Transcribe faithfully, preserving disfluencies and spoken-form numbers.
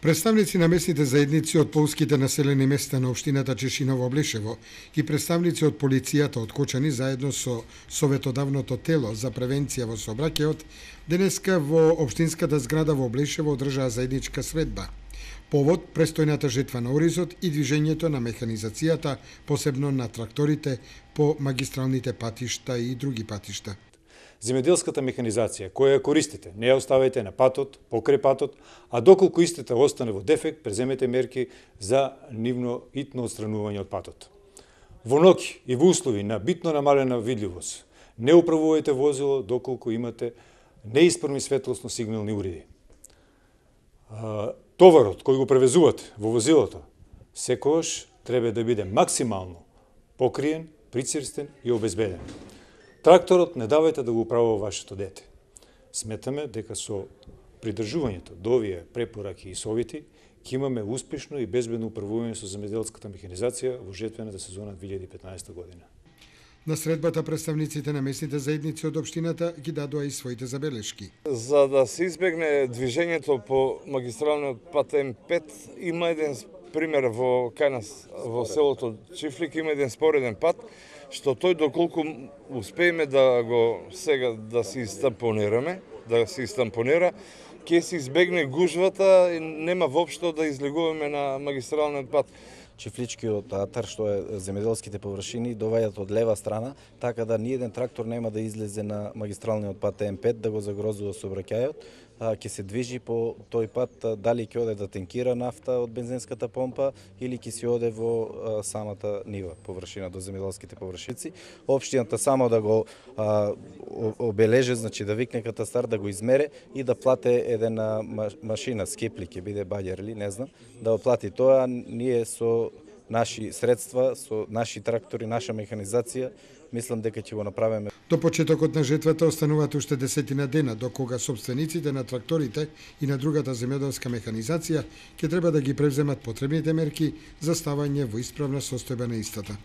Представници на местните заедници од полските населени места на општината Чешиново-Облешево и представници од полицијата од Кочани заедно со советодавното тело за превенција во сообраќајот денеска во општинската зграда во Облешево одржаа заедничка средба. Повод престојната жетва на оризот и движењето на механизацијата, посебно на тракторите по магистралните патишта и други патишта. Земјоделската механизација, која ја користите, не ја оставајте на патот, покрај патот, а доколку истата остане во дефект, преземете мерки за нивно итно отстранување од патот. Во ноќ и во услови на битно намалена видливост, не управувајте возило доколку имате неисправни светлосно сигнални уреди. Товарот кој го превезувате во возилото, секогаш треба да биде максимално покриен, прицрстен и обезбеден. Тракторот не давајте да го управува вашето дете. Сметаме дека со придржувањето до овие препораки и совети ќе имаме успешно и безбедно управување со земјоделската механизација во жетвената сезона две илјади и петнаесета година. На средбата представниците на местните заедници од општината ги дадоа и своите забелешки. За да се избегне движењето по магистралниот пат М пет, има еден пример во кај нас во селото Чифлик, има еден спореден пат што тој доколку успееме да го сега да се истампонираме, да се истампонира, ќе се избегне гужвата и нема воопшто да излегуваме на магистралниот пат. Чифличкиот атар, што е земјоделските површини, доваѓаат од лева страна, така да ниеден трактор нема да излезе на магистралниот пат М пет да го загрозува сообраќајот. Ќе се движи по тој пат, дали ќе оде да тенкира нафта од бензинската помпа или ќе се оде во самата нива, површина до земјоделските површици. Општината само да го а, обележе, значи да викне катастар, да го измере и да плате едена машина, скепли ќе биде баѓер или не знам, да го плати тоа. Ние со наши средства, со наши трактори, наша механизација, мислам дека ќе го направиме. До почетокот на жетвата остануваат уште десетина дена, до кога собствениците на тракторите и на другата земјоделска механизација ќе треба да ги превземат потребните мерки за ставање во исправна состојба на истата.